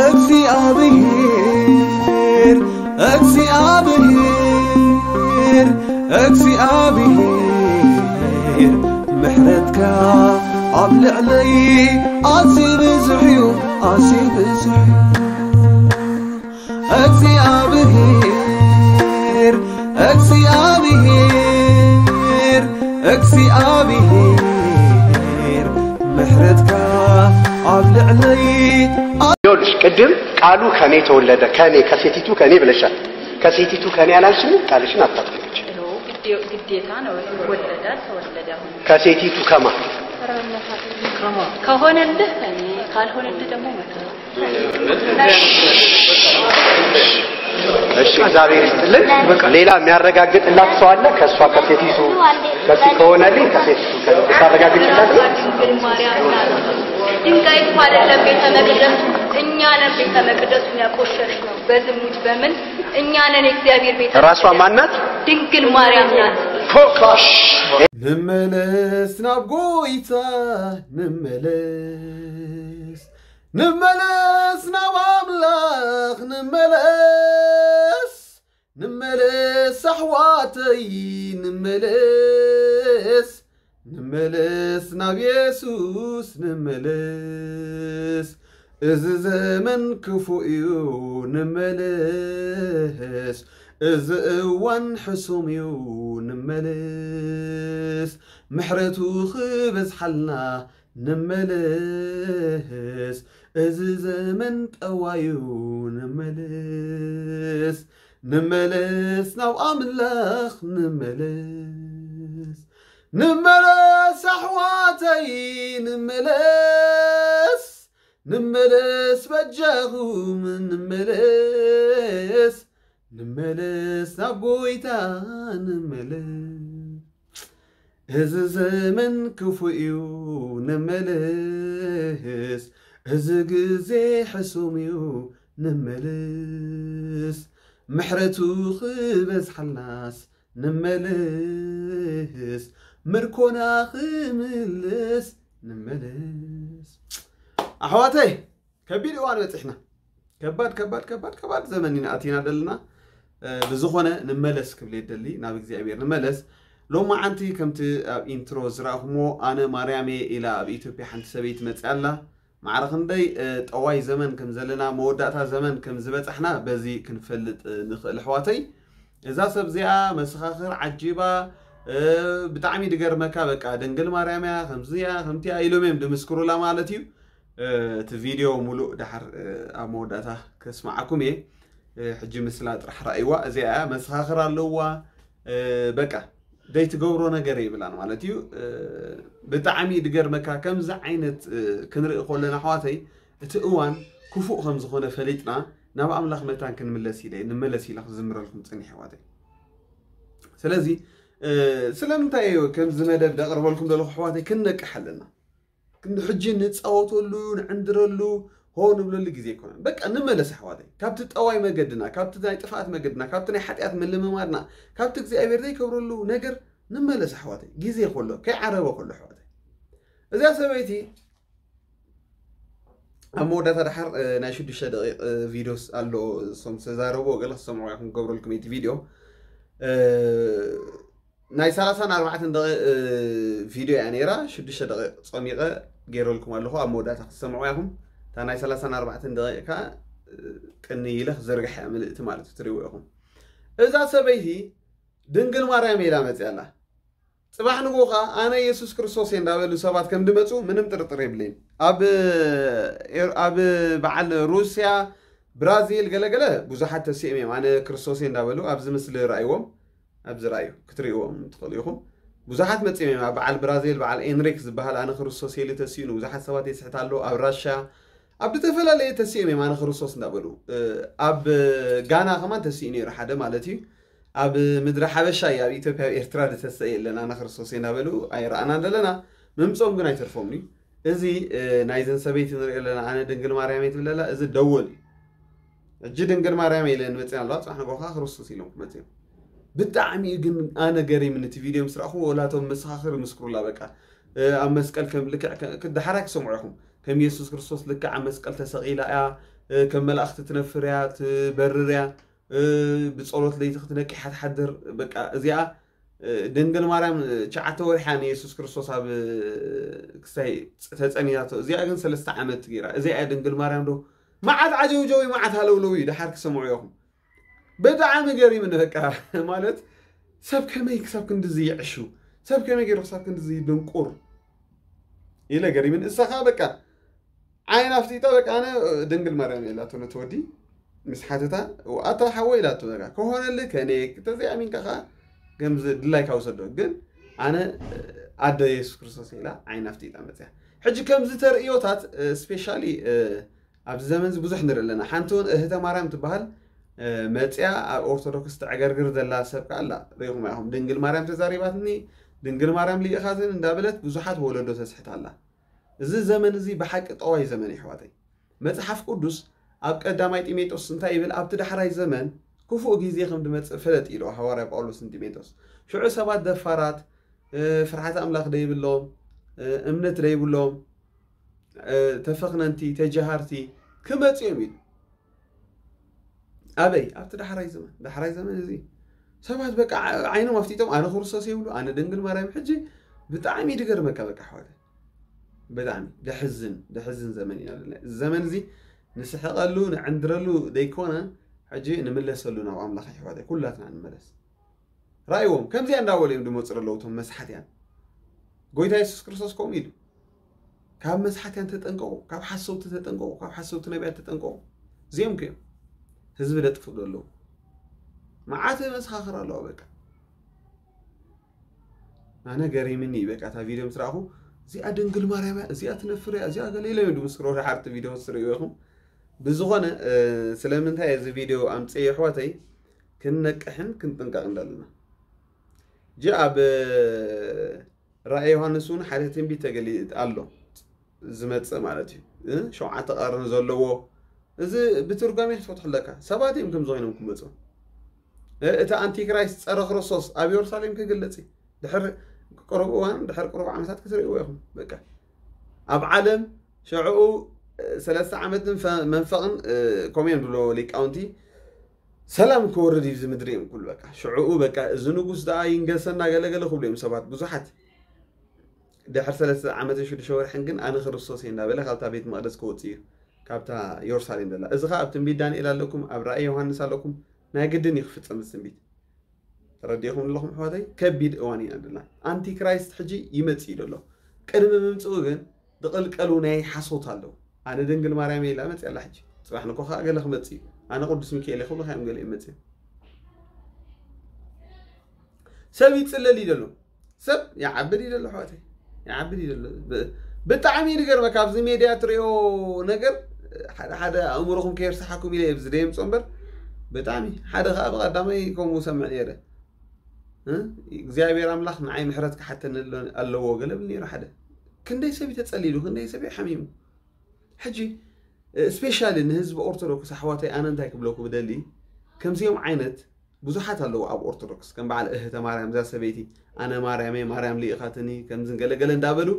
እግዚኣብሔር እግዚኣብሔር እግዚኣብሔር ምሕረትካ ኣብ ልዕለይ ኣዝዩ ብዙሕ እዩ ኣዝዩ ብዙሕ እዩ እግዚኣብሔር እግዚኣብሔር እግዚኣብሔር ምሕረትካ ኣብ ልዕለይ ይኸውልሽ ቅድም ቃሉ ከኔ ተወለደ ከኔ ከሴቲቱ ከኔ ብለሻል። ከሴቲቱ ከኔ አላልሽም? ቃልሽን አታጥፊ። ግዴታ ነው። ወለደ አልተወለደ አሁን ከሴቲቱ ከማ ከሆነልህ ከኔ ካልሆነልህ ደግሞ መከራ። እሺ፣ እግዚአብሔር ይስጥልን። ሌላ የሚያረጋግጥላት ሰው አለ? ከእሷ ከሴቲቱ ከሆነልኝ ከሴቲቱ ታረጋግጥላት። ድንጋይ እኮ አይደለም ቤተ መቅደሱ፣ እኛ ነን ቤተ መቅደሱን ያቆሸሽ ነው በዝሙት በምን እኛ ነን የእግዚአብሔር ቤተ ራሷ ማናት? ድንግል ማርያም ናት። ፎካሽ ንመለስ ናብ ጎይታ ንመለስ ንመለስ ናብ ኣምላኽ ንመለስ ንመለስ ኣሕዋተይ ንመለስ ንመለስ ናብ የሱስ ንመለስ እዚ ዘመን ክፉእ እዩ ንመለስ እዚ እዋን ሕሱም እዩ ንመለስ ምሕረቱ ክበዝሓልና ንመለስ እዚ ዘመን ጠዋዩ ንመለስ ንመለስ ናብ ኣምላኽ ንመለስ ንመለስ ኣሕዋተይ ንመለስ ንመለስ በጃኹም ንመለስ ንመለስ ናብ ጎይታ ንመለስ እዚ ዘመን ክፉእ እዩ ንመለስ እዚ ግዜ ሕሱም እዩ ንመለስ ምሕረቱ ክበዝሓልናስ ንመለስ ምርኮና ክምልስ ንመለስ ኣሕዋተይ ከቢድ እዋን በፂሕና ከባድ ከባድ ከባድ ከባድ ዘመን ኢና ኣቲና ዘለና ብዝኾነ ንመለስ ክብል የደሊ ናብ እግዚኣብሔር ንመለስ ሎማዓንቲ ከምቲ ኣብ ኢንትሮ ዝረእኹሞ ኣነ ማርያም እየ ኢላ ኣብ ኢትዮጵያ ሓንቲ ሰበይቲ መፅያ ኣላ ማዕረ ክንደይ ጠዋይ ዘመን ከም ዘለና መወዳእታ ዘመን ከም ዝበፃሕና በዚ ክንፈልጥ ንኽእል ኣሕዋተይ እዛ ሰብ እዚኣ መሰኻኽር ዓጂባ ብጣዕሚ ድገርመካ በቃ ድንግል ማርያም እያ ከምዚያ ከምቲያ ኢሎም እዮም ድምስክሩላ ማለት እዩ እቲ ቪድዮ ሙሉእ ደሓር ኣብ መወዳእታ ከስማዓኩም እየ ሕጂ ምስላ ጥራሕ ረኣይዋ እዚኣ እያ መሰኻኽር ኣለዋ በቃ ዘይትገብሮ ነገር የብላን ማለት እዩ ብጣዕሚ ድገርመካ ከምዚ ዓይነት ክንርኢ ከለና ኣሕዋተይ እቲ እዋን ክፉእ ከም ዝኾነ ፈሊጥና ናብ ኣምላኽ መታን ክንምለስ ኢለ ንመለስ ኢለ ክዝምረልኩም ፅኒሕ ኣሕዋተይ ስለዚ ስለምንታይ ከምዚ መደብ ደቕርበልኩም ዘለኹ ኣሕዋተይ ክንነቅሕ ኣለና ሕጂ ንፃወተሉ ንዕንድረሉ ሆ ንብለሉ ግዜ ኣይኮነን በቃ ንመለስ ኣሕዋተይ ካብቲ ጠዋይ መገድና ካብቲ ናይ ጥፍኣት መገድና ካብቲ ናይ ሓጢኣት ምልምማድና ካብቲ እግዚኣብሔር ዘይከብረሉ ነገር ንመለስ ኣሕዋተይ ግዜ ከሎ ከይዓረበ ከሎ ኣሕዋተይ እዚኣ ሰበይቲ ኣብ መወዳእታ ድሓር ናይ ሽዱሽተ ደቂቕ ቪዲዮስ ኣሎ እሶም ዝተዛረብዎ ገለ ክሰምዑ ኢኹም ክገብረልኩም እቲ ቪድዮ ናይ ሰላሳን ኣርባዕተን ደቂቕ ቪድዮ እያ ነይራ ሽዱሽተ ደቂቕ ፀሚቐ ገይረልኩም ኣለኹ ኣብ መወዳእታ ክትሰምዑ ኢኹም እታ ናይ ሰላሳን ኣርባዕተን ደቂቕ ከዓ ቅኒ ኢለ ክዘርግሕ እያ ምልእቲ ማለት እዩ ትሪእዎ ኢኹም እዛ ሰበይቲ ድንግል ማርያም ኢላ መፅያ ኣላ ፅባሕ ንግሆ ከዓ ኣነ የሱስ ክርስቶስ እየ እንዳበሉ ሰባት ከም ድመፁ ምንም ጥርጥር የብለይን ኣብ ኣብ በዓል ሩስያ ብራዚል ገለገለ ብዙሓት ተሲኦም እዮም ኣነ ክርስቶስ እየ እንዳበሉ ኣብዚ ምስሊ ርኣይዎም ኣብዚ ርኣዩ ክትሪእዎም ትኽእሉ ኢኹም ብዙሓት መፂኦም እዮም ኣብ በዓል ብራዚል በዓል ኤንሪክ ዝበሃል ኣነ ክርስቶስ እየ ኢሉ ተሲኡ ንብዙሓት ሰባት የስሕት ኣሎ ኣብ ራሻ ኣብ ዝተፈላለየ ተሲኦም እዮም ኣነ ክርስቶስ እንዳበሉ ኣብ ጋና ከማን ተሲኡ ነይሩ ሓደ ማለት እዩ ኣብ ምድሪ ሓበሻ እዩ ኣብ ኢትዮጵያ ኣብ ኤርትራ ዝተሰ የለን ኣነ ክርስቶስ እየ እንዳበሉ ኣይረኣናን ዘለና ምምፆም ግን ኣይተርፎም እዩ እዚ ናይዘን ሰበይቲ ንሪኦ ኣለና ኣነ ድንግል ማርያም እየ ትብል ኣላ እዚ ደወል እዩ ሕጂ ድንግል ማርያም እየ ኢለን መፅና ኣለዋ ፅባሕ ንጎኻ ክርስቶስ ኢሎም ክመፅኦም ብጣዕሚ እዩ ግን ኣነ ገሪምኒ እቲ ቪድዮ ምስ ረእኹ ወላቶም መሰኻኽር ምስክሩላ በቃ ኣብ መስቀል ከም ልክዕ ክድሓራ ክሰምዑ ኢኹም ከም የሱስ ክርስቶስ ልክዕ ኣብ መስቀል ተሰቒላ እያ ከም መላእኽቲ ትነፍር እያ፣ ትበርር እያ። ብጸሎት ለይቲ ክትነቅሕ ትሓድር። በቃ እዚኣ ድንግል ማርያም ትሽዓተ ወርሓ ንየሱስ ክርስቶስ ኣብ ክሳይ ተጸኒታቶ፣ እዚኣ ግን ሰለስተ ዓመት ገይራ። እዚኣ ድንግል ማርያም ዶ? መዓት ዓጀውጀው እዩ፣ መዓት ሃለውለው እዩ። ደሓር ክሰምዑ ኢኹም። ብጣዕሚ ገሪምኒ በቃ። ማለት ሰብ ከመይ ክሳብ ክንድዚ ይዕሹ፣ ሰብ ከመይ ገይሩ ክሳብ ክንድዚ ድንቁር ኢለ ገሪምን። እሳኻ በቃ ዓይን ኣፍጢጣ በቃ ኣነ ድንግል ማርያም ኢላቶ ነቲ ወዲ ምስ ሓተታ፣ ኣታ ሓወይ ኢላቶ በቃ ከሆነልህ ከኔ ተዘይኣሚንካ ከዓ ከምዚ ድላይካ ውሰዶ፣ ግን ኣነ ኣደ የሱስ ክርስቶስ ኢላ ዓይን ኣፍጢጣ መፅያ። ሕጂ ከምዚ ተርእዮታት ስፔሻሊ ኣብዚ ዘመን እዚ ብዙሕ ንርኢ ኣለና። ሓንቲ እውን እህተ ማርያም ትበሃል መፅያ ኣብ ኦርቶዶክስ ተዕገርግር ዘላ ሰብ ከኣ ኣላ። ርኢኹም ኢኹም ድንግል ማርያም ተዛሪባትኒ፣ ድንግል ማርያም ልኢኻትን እንዳበለት ብዙሓት ወለዶ ተስሕት ኣላ። እዚ ዘመን እዚ ብሓቂ ጠዋይ ዘመን እዩ ኣሕዋተይ። መጽሓፍ ቅዱስ ኣብ ቀዳማይ ጢሞቴዎስ እንታይ ይብል? ኣብቲ ዳሕራይ ዘመን ክፉእ ግዜ ከም ዝመጽእ ፍለጥ ኢሉ ሃዋርያ ጳውሎስ ንጢሞቴዎስ። ሽዑ ሰባት ደፋራት፣ ፍርሓት ኣምላኽ ደይብሎም፣ እምነት ደይብሎም፣ ተፈኽነንቲ፣ ተጀሃርቲ ክመጽኡ እዮም ኢሉ። ኣበይ? ኣብቲ ዳሕራይ ዘመን። ዳሕራይ ዘመን እዚ ሰባት በቃ ዓይኖም ኣፍጢጦም ኣነ ክርስቶስ ይብሉ፣ ኣነ ድንግል ማርያም። ሕጂ ብጣዕሚ ድገርመካ በቃ ኣሕዋተ፣ ብጣዕሚ ደሕዝን ደሕዝን ዘመን ኢና ዘለና። እዚ ዘመን እዚ ንስሕቐሉ ንዕንድረሉ ደይኮነ፣ ሕጂ ንምለሰሉ ናብ ኣምላኽ ኣሕዋተ ኩላትና ንመለስ። ራእይዎም ከምዚኣ እንዳበሉ እዮም ድመፁ ዘለዉ እቶም መስሓትያን። ጎይታ የሱስ ክርስቶስ ከምኡ ኢሉ ካብ መስሓትያን ተጠንቀቑ፣ ካብ ሓሰውቲ ተጠንቀቑ፣ ካብ ሓሰውቲ ነቢያት ተጠንቀቑ። እዚኦም ከዮም ህዝቢ ደጥፉ ዘለዉ። መዓት መሰኻኽር ኣለዋ በቃ። ኣነ ገሪምኒ በቃ እታ ቪድዮ ምስ ረኣኹ፣ እዚኣ ድንግል ማርያም እያ፣ እዚኣ ትነፍር እያ፣ እዚኣ ገለ ኢለ ድምስክሮ ሓርቲ ቪድዮ ትርእዩ ኢኹም። ብዝኾነ ስለምንታይ እዚ ቪድዮ ኣምፅእ ኣሕዋተይ፣ ክንነቅሕን ክንጥንቀቕ እንዳለና። ጂ ኣብ ራእይ ዮሃንስ እውን ሓደ ትንቢት ተገሊ ኣሎ ዝመፅእ ማለት እዩ። ሸውዓተ ቀርኒ ዘለዎ እዚ ብትርጓሜ ክትፈትሑ ኣለካ። ሰባት እዮም ከምዚ ኮይኖም ክመፁ። እቲ ኣንቲክራይስት ጸረ ክርስቶስ ኣብ የሩሳሌም ክግለጽ እዩ። ድሕር ቅሩብ እዋን ድሕር ቅሩብ ዓመታት ክትርእይዎ ኢኹም። በቃ ኣብ ዓለም ሽዕኡ ሰለስተ ዓመትን መንፈቕን ከምኡ እዮም ዝብሎ ሊቃውንቲ። ሰላም ክወርድ እዩ እዚ ምድሪ እዮም ክብሉ። በቃ ሽዕኡ በቃ እዚ ንጉስ ደኣ ይንገሰና ገለገለ ክብሉ እዮም ሰባት ብዙሓት። ድሕር ሰለስተ ዓመትን ሽዱሽተ ወርሕን ግን ኣነ ክርስቶስ እየ እንዳበለ ካብታ ቤት መቕደስ ክወፅእ እዩ፣ ካብታ የሩሳሌም ዘላ። እዚ ኸዓ ኣብ ትንቢት ዳንኤል ኣለኩም፣ ኣብ ራእይ ዮሃንስ ኣለኩም። ናይ ግድን እዩ ክፍፀም እዚ ትንቢት። ተረዲእኹም ኣለኹም ኣሕዋተይ? ከቢድ እዋን ኢና ዘለና። ኣንቲክራይስት ሕጂ ይመፅእ እዩ ዘሎ። ቅድሚ ምምፅኡ ግን ዝቕልቀሉ ናይ ሓሶት ኣለዉ። ኣነ ድንግል ማርያም እየ ኢላ መፅያ ኣላ። ሕጂ ፅባሕ ንኮ ከዓ ገለ ክመፅእ እዩ። ኣነ ቅዱስ ሚካኤል እየ ክብሉ ከዮም ገለ እዮም መፅዮም። ሰብ ይፅለል እዩ ዘሎ። ሰብ ይዓብድ እዩ ዘሎ ኣሕዋተይ፣ ይዓብድ እዩ ዘሎ። ብጣዕሚ እዩ ዝገርመካ ኣብዚ ሜድያ ትሪኦ ነገር። ሓደ ሓደ ኣእምሮኹም ከየርስሓኩም ኢለ ኣብዚ ደየምፅኦ እምበር ብጣዕሚ ሓደ ከዓ ብቐዳማይ ከምኡ ሰምዕ ነይረ። እግዚኣብሔር ኣምላኽ ንዓይ ምሕረት ክሓተኒ ኣለዎ ገለ ብል ነይሩ ሓደ። ክንደይ ሰብ እዩ ተፀሊሉ፣ ክንደይ ሰብ እዩ ሓሚሙ። ሕጂ ስፔሻሊ ንህዝቢ ኦርቶዶክስ ኣሕዋተይ ኣነ እንታይ ክብለኩ ብደሊ፣ ከምዚኦም ዓይነት ብዙሓት ኣለዉ ኣብ ኦርቶዶክስ። ከም በዓል እህተ ማርያም እዛ ሰበይቲ ኣነ ማርያመይ ማርያም ልኢኻትኒ ከምዝን ገለገለ እንዳበሉ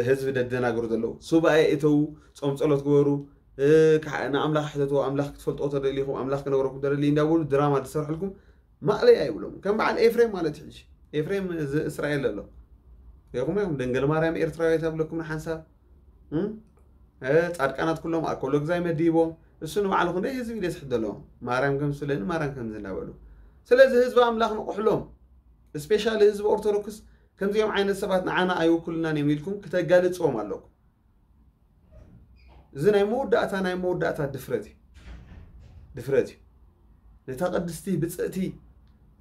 ህዝቢ ደደናግሩ ዘለዉ። ሱባኤ እተዉ፣ ጾም ጸሎት ግበሩ፣ ንኣምላኽ ሕተትዎ፣ ኣምላኽ ክትፈልጥዎ ተደሊኹም ኣምላኽ ክነግረኩም ተደሊ እንዳበሉ ድራማ ዝሰርሕልኩም ማእለያ ይብሎም። ከም በዓል ኤፍሬም ማለት እዩ። ሕጂ ኤፍሬም እዚ እስራኤል ዘሎ ይኹም ይኹም ድንግል ማርያም ኤርትራዊት ኣብለኩም ንሓንሳብ ጻድቃናት ኩሎም ኣኮሎ ግዛይ መዲቦም እሱ ንባዕሉ ክንደይ ህዝቢ ደስሕት ዘለዎም ማርያም ከም ስለኒ ማርያም ከም ዝናበሉ። ስለዚ ህዝቢ ኣምላኽ ንቑሕሎም። ስፔሻሊ ህዝቢ ኦርቶዶክስ ከምዚኦም ዓይነት ሰባት ንዓና ኣይውክሉናን እዮም ኢልኩም ክተጋልጽዎም ኣለኩም። እዚ ናይ መወዳእታ ናይ መወዳእታ ድፍረት እዩ። ድፍረት እዩ። ነታ ቅድስቲ ብፅእቲ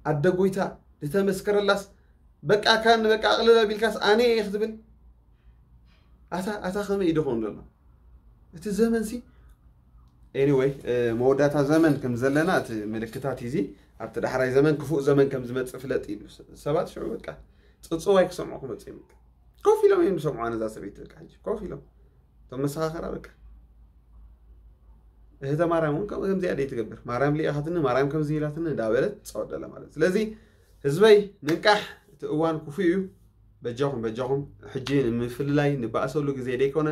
ኣደ ጎይታ ዝተመስከረላስ በቃ ካን በቃ ኣቕልል ኣቢልካስ ኣነ እየ ክትብል ኣታ ኣታ ከመይ እዩ ድኸውን ዘሎ እቲ ዘመን ሲ። ኤኒወይ መወዳእታ ዘመን ከም ዘለና እቲ ምልክታት እዚ ኣብቲ ዳሕራይ ዘመን ክፉእ ዘመን ከም ዝመፅእ ፍለጥ ኢሉ ሰባት ሽዑ በቃ ፅፅዋይ ክሰምዑ ክመፅእ እዩ። ኮፍ ኢሎም እዮም ዝሰምዑ ኣነዛ ሰበይቲ በቃ ሕጂ ኮፍ ኢሎም እቶም መሰኻኸራ በቃ እህተ ማርያም እውን ከምኡ ከምዚኣ ደይ ትገብር ማርያም ሊኢኻትኒ ማርያም ከምዚ ኢላትኒ እንዳበለት ትፃወት ደላ ማለት። ስለዚ ህዝበይ ንንቃሕ፣ እቲ እዋን ክፉእ እዩ። በጃኹም በጃኹም ሕጂ ንምፍልላይ ንባእሰሉ ግዜ ደይኮነ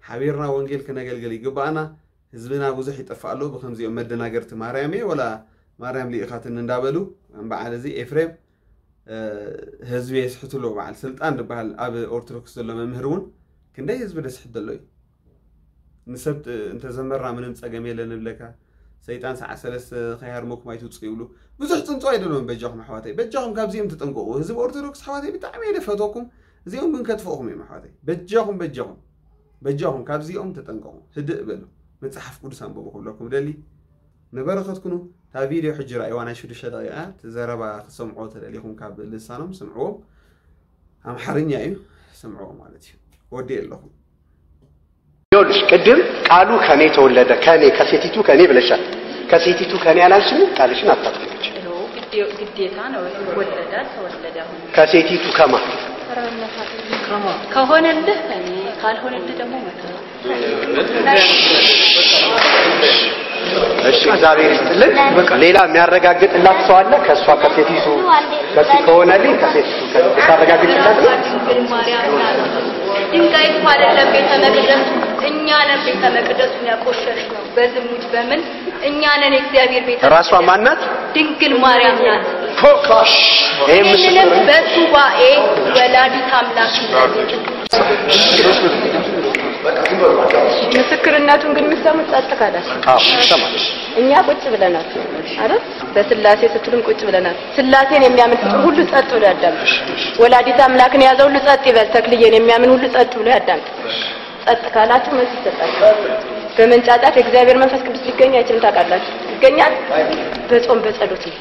ሓቢርና ወንጌል ክነገልግል ይግባኣና። ህዝብና ብዙሕ ይጠፍእ ኣሎ ብከምዚኦም መደናገርቲ። ማርያም እየ ወላ ማርያም ልኢኻትኒ እንዳበሉ በዓል እዚ ኤፍሬም ህዝቢ የስሕትሎ። በዓል ስልጣን ዝበሃል ኣብ ኦርቶዶክስ ዘሎ መምህር እውን ክንደይ ህዝቢ ደስሕት ዘሎ እዩ። ንሰብ እንተዘመርና ምንም ጸገም የለን ንብለካ። ሰይጣን ሰዓት ሰለስተ ከይሃርመኩም ኣይትውፁ ይብሉ። ብዙሕ ጽንጾ ኣይደለዎም። በጃኹም ኣሕዋተይ፣ በጃኹም ካብዚኦም ተጠንቀቑ። ህዝቢ ኦርቶዶክስ ኣሕዋተይ ብጣዕሚ እየ ደፈትወኩም። እዚኦም ግን ከጥፍኡኹም እዮም ኣሕዋተይ። በጃኹም በጃኹም በጃኹም ካብዚኦም ተጠንቀቑ። ህድእ በሉ። መጽሓፍ ቅዱስ ኣንብቡ ክብለኩም ደሊ። ንበረኸት ኩኑ። እታ ቪድዮ ሕጂ ራእይዋ ናይ ሽዱሽተ ደቂቃ። እቲ ዘረባ ክሰምዖ ተደሊኹም ካብ ልሳኖም ስምዕዎም። ኣምሓርኛ እዩ። ስምዕዎ ማለት እዩ። ወዲ ኣለኹም። ይኸውልሽ ቅድም ቃሉ ከኔ ተወለደ፣ ከኔ ከሴቲቱ ከኔ ብለሻል። ከሴቲቱ ከኔ አላልሽም፣ ቃልሽን አታጥፊ። ግዴታ ነው። ወለደ አልተወለደ አሁን ከሴቲቱ ከማ ከሆነልህ ከኔ ካልሆነልህ ደግሞ መከራ። እሺ፣ እግዚአብሔር ይስጥልን። ሌላ የሚያረጋግጥላት ሰው አለ? ከእሷ ከሴቲቱ ከሲ ከሆነልኝ ከሴቲቱ ከ- ታረጋግጥላት ነው። ድንግል ማርያም ናት። ድንጋይ እኮ አይደለም ቤተ መቅደሱ፣ እኛ ነን ቤተ መቅደሱን ያቆሸሽ ነው በዝሙት በምን። እኛ ነን የእግዚአብሔር ቤተ ራሷ ማናት? ድንግል ማርያም ናት። ይሄ ምስክር ይህንንም በሱባኤ ወላዲት አምላክ ምስክርነቱን ግን የምትሰሙት ጸጥ ካላችሁ። አዎ ይሰማል። እኛ ቁጭ ብለናል አይደል? በስላሴ ስትሉም ቁጭ ብለናል። ስላሴን የሚያምን ፍጡር ሁሉ ጸጥ ብሎ ያዳምጥ። ወላዲት አምላክን የያዘ ሁሉ ጸጥ ይበል። ተክልዬን የሚያምን ሁሉ ጸጥ ብሎ ያዳምጥ። ጸጥ ካላችሁ መልስ ይሰጣችኋል። በመንጫጫት የእግዚአብሔር መንፈስ ቅዱስ ሊገኝ አይችልም። ታውቃላችሁ? ይገኛል። በጾም በጸሎት ነው።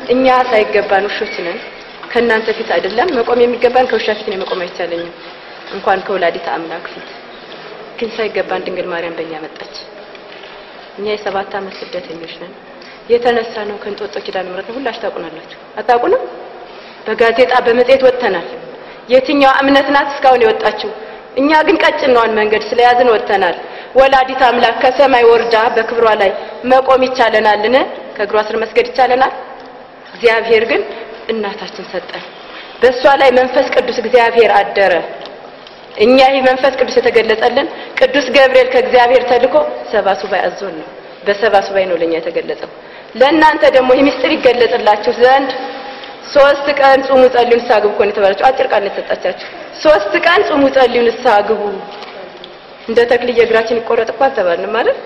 እኛ ሳይገባን ውሾች ነን። ከእናንተ ፊት አይደለም መቆም የሚገባን፣ ከውሻ ፊት ነው መቆም አይቻለኝም፣ እንኳን ከወላዲት አምላክ ፊት። ግን ሳይገባን ድንግል ማርያም በእኛ መጣች። እኛ የሰባት ዓመት ስደተኞች ነን። የተነሳ ነው ከእንጦጦ ኪዳነ ምሕረት ነው። ሁላችሁ ታውቁናላችሁ። አታውቁንም? በጋዜጣ በመጽሔት ወጥተናል። የትኛዋ እምነት ናት እስካሁን የወጣችው? እኛ ግን ቀጭን ነዋን መንገድ ስለያዝን ወጥተናል። ወላዲት አምላክ ከሰማይ ወርዳ በክብሯ ላይ መቆም ይቻለናልን? ከእግሯ ስር መስገድ ይቻለናል? እግዚአብሔር ግን እናታችን ሰጠን። በእሷ ላይ መንፈስ ቅዱስ እግዚአብሔር አደረ። እኛ ይህ መንፈስ ቅዱስ የተገለጸልን ቅዱስ ገብርኤል ከእግዚአብሔር ተልኮ ሰባ ሱባኤ አዞን ነው። በሰባ ሱባኤ ነው ለእኛ የተገለጸው። ለእናንተ ደግሞ ይህ ምስጢር ይገለጽላችሁ ዘንድ ሶስት ቀን ጹሙ፣ ጸልዩ፣ ንስሐ ግቡ እኮ ነው የተባላችሁ። አጭር ቃል ነው የተሰጣቻችሁ። ሶስት ቀን ጹሙ፣ ጸልዩ፣ ንስሐ ግቡ። እንደ ተክልዬ እግራችን ይቆረጥ እኮ አልተባልንም አይደል?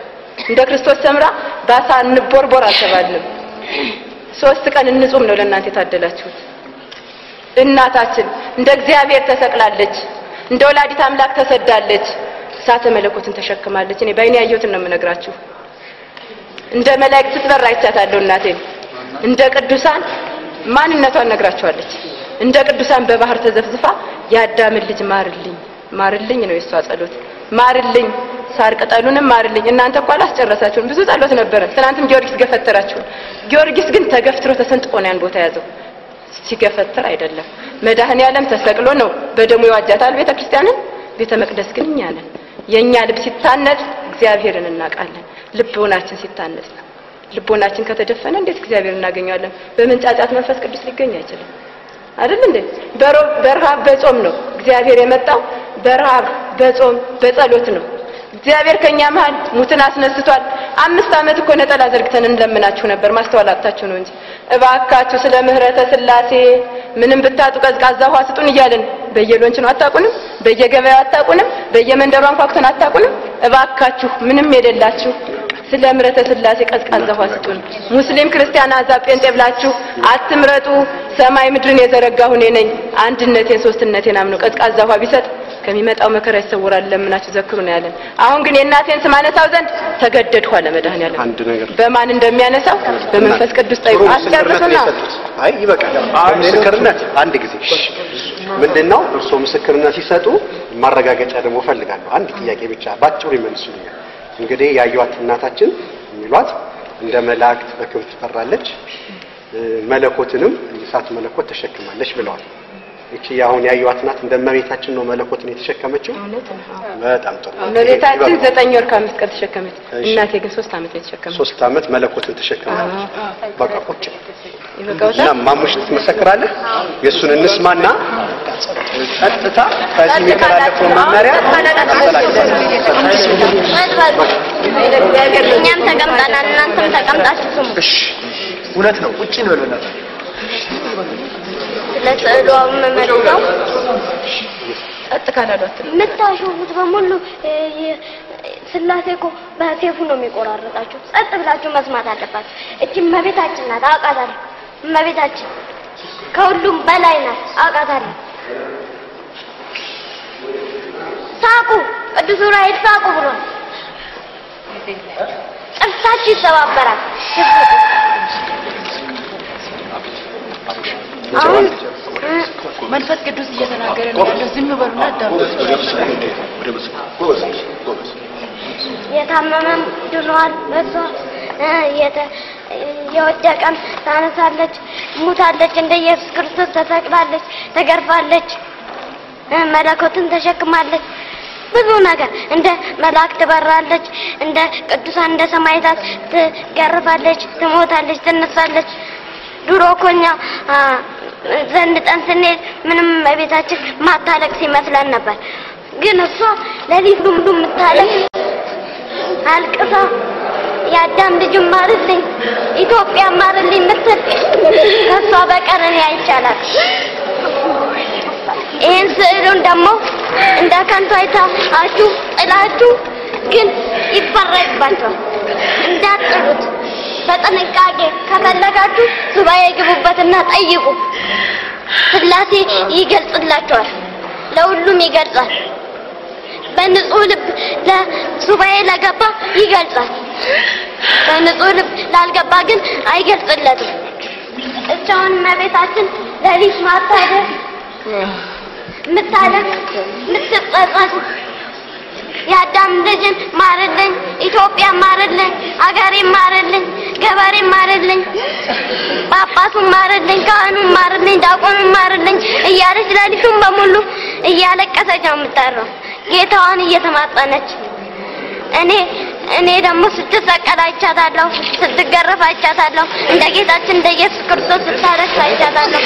እንደ ክርስቶስ ሰምራ ባሳ እንቦርቦር አልተባልንም። ሶስት ቀን እንጹም ነው ለእናንተ የታደላችሁት። እናታችን እንደ እግዚአብሔር ተሰቅላለች፣ እንደ ወላዲት አምላክ ተሰዳለች፣ እሳተ መለኮትን ተሸክማለች። እኔ በአይኔ ያየሁትን ነው የምነግራችሁ። እንደ መላእክት ስትበር አይቻታለሁ እናቴን። እንደ ቅዱሳን ማንነቷን ነግራችኋለች። እንደ ቅዱሳን በባህር ተዘፍዝፋ የአዳምን ልጅ ማርልኝ ማርልኝ ነው የእሷ ጸሎት። ማርልኝ፣ ሳር ቅጠሉንም ማርልኝ። እናንተ እኮ አላስጨረሳችሁም፣ ብዙ ጸሎት ነበረ። ትናንትም ጊዮርጊስ ገፈተራችሁን። ጊዮርጊስ ግን ተገፍትሮ ተሰንጥቆ ነው ያን ቦታ ያዘው። ሲገፈትር አይደለም፣ መድኃኔ ዓለም ተሰቅሎ ነው በደሙ የዋጃታል ቤተ ክርስቲያንን። ቤተ መቅደስ ግን እኛ ነን። የእኛ ልብ ሲታነጽ እግዚአብሔርን እናውቃለን። ልቦናችን ሲታነጽ ነው። ልቦናችን ከተደፈነ እንዴት እግዚአብሔር እናገኘዋለን? በመንጫጫት መንፈስ ቅዱስ ሊገኝ አይችልም። አይደል እንዴ? በሮ- በረሃብ በጾም ነው እግዚአብሔር የመጣው። በረሃብ በጾም በጸሎት ነው። እግዚአብሔር ከኛ መሃል ሙትን አስነስቷል። አምስት ዓመት እኮ ነጠላ ዘርግተን እንለምናችሁ ነበር፣ ማስተዋል አጥታችሁ ነው እንጂ። እባካችሁ ስለ ምህረተ ስላሴ ምንም ብታጡ ቀዝቃዛ ውሃ ስጡን እያልን በየሎንች ነው። አታውቁንም? በየገበያው አታውቁንም? በየመንደሩ አንኳኩተን አታውቁንም? እባካችሁ ምንም የሌላችሁ ስለ ምህረተ ስላሴ ቀዝቃዛ ውሃ ስጡን። ሙስሊም፣ ክርስቲያን፣ አሕዛብ፣ ጴንጤ ብላችሁ አትምረጡ። ሰማይ ምድርን የዘረጋሁ እኔ ነኝ። አንድነቴን ሶስትነቴን አምኖ ቀዝቃዛ ውሃ ቢሰጥ ከሚመጣው መከራ ይሰውራል። ለምናችሁ ዘክሩ ነው ያለን። አሁን ግን የእናቴን ስም አነሳው ዘንድ ተገደድኩ አለ መድኃኔዓለም። አንድ ነገር በማን እንደሚያነሳው በመንፈስ ቅዱስ ጠይቁ። ጥሩ ምስክርነት ነው አስጨርሱና የሰጡት። አይ ይበቃል። ምስክርነት አንድ ጊዜ ምንድን ነው? እርስዎ ምስክርነት ሲሰጡ ማረጋገጫ ደግሞ እፈልጋለሁ። አንድ ጥያቄ ብቻ ባጭሩ ይመልሱልኛል። እንግዲህ ያዩዋት እናታችን የሚሏት እንደ መላእክት በክብር ትፈራለች፣ መለኮትንም እሳት መለኮት ተሸክማለች ብለዋል። እቺ አሁን ያዩዋት እናት እንደ እመቤታችን ነው መለኮትን የተሸከመችው። እውነት ነው። በጣም ጥሩ። እመቤታችን ዘጠኝ ወር ከአምስት ቀን ተሸከመች። እናቴ ግን ሶስት ዓመት ነው የተሸከመች። ሶስት ዓመት መለኮትን ተሸክማለች። በቃ ቁጭ እና ማሙሽ ትመሰክራለህ? የእሱን እንስማና ቀጥታ ከዚህ የሚተላለፈው መመሪያ እኛም ተቀምጠናል፣ እናንተም ተቀምጣችሁ ስሙ። እሺ፣ እውነት ነው። ቁጭ እንበል በእናትህ። ስለ ስዕሉ መመሪያው ጸጥ ካላሉ አትልም። የምታሾፉት በሙሉ እ፣ የ- ስላሴ እኮ በሴፉ ነው የሚቆራረጣችሁ። ጸጥ ብላችሁ መስማት አለባችሁ። እቺ እመቤታችን ናት፣ አውቃታለሁ። እመቤታችን ከሁሉም በላይ ናት፣ አውቃታለሁ። ሳቁ፣ ቅዱስ ዑራኤል ሳቁ ብሎ ጥርሳችሁ ይሰባበራል። አሁን መንፈስ ቅዱስ እየተናገረ ነው ያለው። ዝም በሉና አዳምጡ። የታመመም ድኗል። በሷ እ፣ የተ- የወደቀም ታነሳለች፣ ሙታለች፣ እንደ ኢየሱስ ክርስቶስ ተሰቅላለች፣ ተገርፋለች፣ እ፣ መለኮትን ተሸክማለች። ብዙ ነገር እንደ መላእክት ትበራለች፣ እንደ ቅዱሳን እንደ ሰማዕታት ትገርፋለች፣ ትሞታለች፣ ትነሳለች። ድሮ እኮ እኛ አ፣ ዘንጠን ስንሄድ ምንም እመቤታችን ማታለቅስ ይመስለን ነበር። ግን እሷ ሌሊት ሙሉ የምታለቅስ አልቅሳ የአዳም ልጅ ማርልኝ፣ ኢትዮጵያ ማርልኝ የምትል ከእሷ በቀር እኔ አይቻላት። ይህን ስዕሉን ደግሞ እንደ ከንቱ አይታችሁ ጥላችሁ ግን ይፈረድባችኋል። እንዳትጥሉት በጥንቃቄ ከፈለጋችሁ ሱባኤ ግቡበትና ጠይቁ። ስላሴ ይገልጽላችኋል፣ ለሁሉም ይገልጻል። በንጹህ ልብ ለሱባኤ ለገባ ይገልጻል። በንጹህ ልብ ላልገባ ግን አይገልጽለትም። እቻውን እመቤታችን ሌሊት ማታደር የምታለቅስ የምትጸጸት የአዳም ልጅን ማርልኝ፣ ኢትዮጵያ ማርልኝ፣ አገሬ ማርልኝ፣ ገበሬ ማርልኝ፣ ጳጳሱን ማርልኝ፣ ካህኑን ማርልኝ፣ ዲያቆኑን ማርልኝ እያለች ሌሊቱን በሙሉ እያለቀሰች ነው የምታድረው ጌታዋን እየተማጸነች። እኔ እኔ ደግሞ ስትሰቀል አይቻታለሁ፣ ስትገረፍ አይቻታለሁ፣ እንደ ጌታችን እንደ ኢየሱስ ክርስቶስ ስታለቅስ አይቻታለሁ።